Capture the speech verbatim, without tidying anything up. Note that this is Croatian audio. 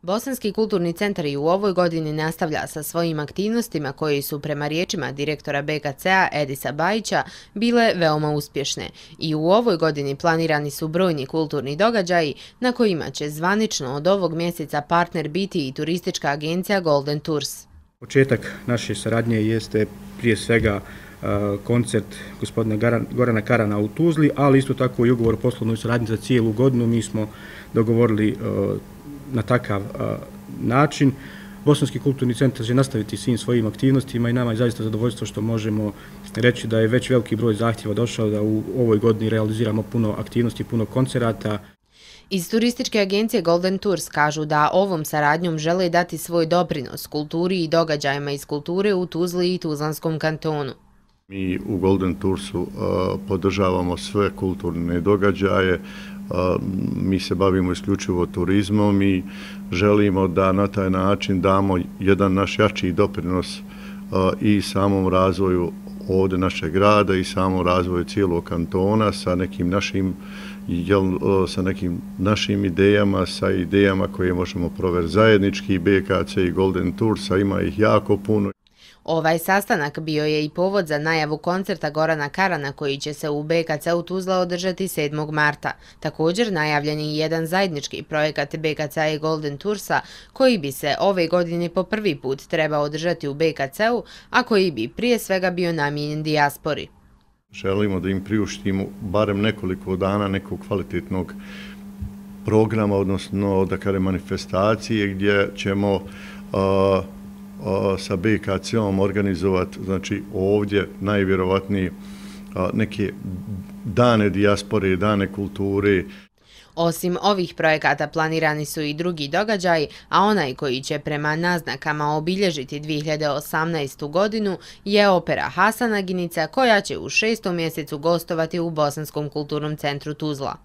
Bosanski kulturni centar i u ovoj godini nastavlja sa svojim aktivnostima koji su, prema riječima direktora B K C-a Edisa Bajića, bile veoma uspješne. I u ovoj godini planirani su brojni kulturni događaji na kojima će zvanično od ovog mjeseca partner biti i turistička agencija Golden Tours. Početak naše saradnje jeste prije svega koncert gospodina Gorana Karana u Tuzli, ali isto tako i ugovor o poslovnoj saradnji za cijelu godinu. Mi smo dogovorili na takav način. Bosanski kulturni centar će nastaviti svim svojim aktivnostima i nama je zaista zadovoljstvo što možemo reći da je već veliki broj zahtjeva došao da u ovoj godini realiziramo puno aktivnosti, puno koncerata. Iz turističke agencije Golden Tours kažu da ovom saradnjom žele dati svoj doprinos kulturi i događajima iz kulture u Tuzli i Tuzlanskom kantonu. Mi u Golden Toursu uh, podržavamo sve kulturne događaje, uh, mi se bavimo isključivo turizmom i želimo da na taj način damo jedan naš jači doprinos uh, i samom razvoju ovdje našeg grada i samom razvoju cijelog kantona sa nekim našim, jel, sa nekim našim idejama, sa idejama koje možemo provesti zajednički. B K C i Golden Toursa, ima ih jako puno. Ovaj sastanak bio je i povod za najavu koncerta Gorana Karana koji će se u B K C-u Tuzla održati sedmog marta. Također najavljen je jedan zajednički projekat B K C-a i Golden Toursa koji bi se ove godine po prvi put trebao održati u B K C-u, a koji bi prije svega bio namijenjen dijaspori. Želimo da im priuštimo barem nekoliko dana nekog kvalitetnog programa, odnosno da kažem manifestacije gdje ćemo uh, sa B K C-om organizovati, znači ovdje najvjerovatnije neke dane dijaspore, dane kulture. Osim ovih projekata planirani su i drugi događaji, a onaj koji će prema naznakama obilježiti dvije hiljade osamnaestu. godinu je opera Hasan Aginica koja će u šestom mjesecu gostovati u Bosanskom kulturnom centru Tuzla.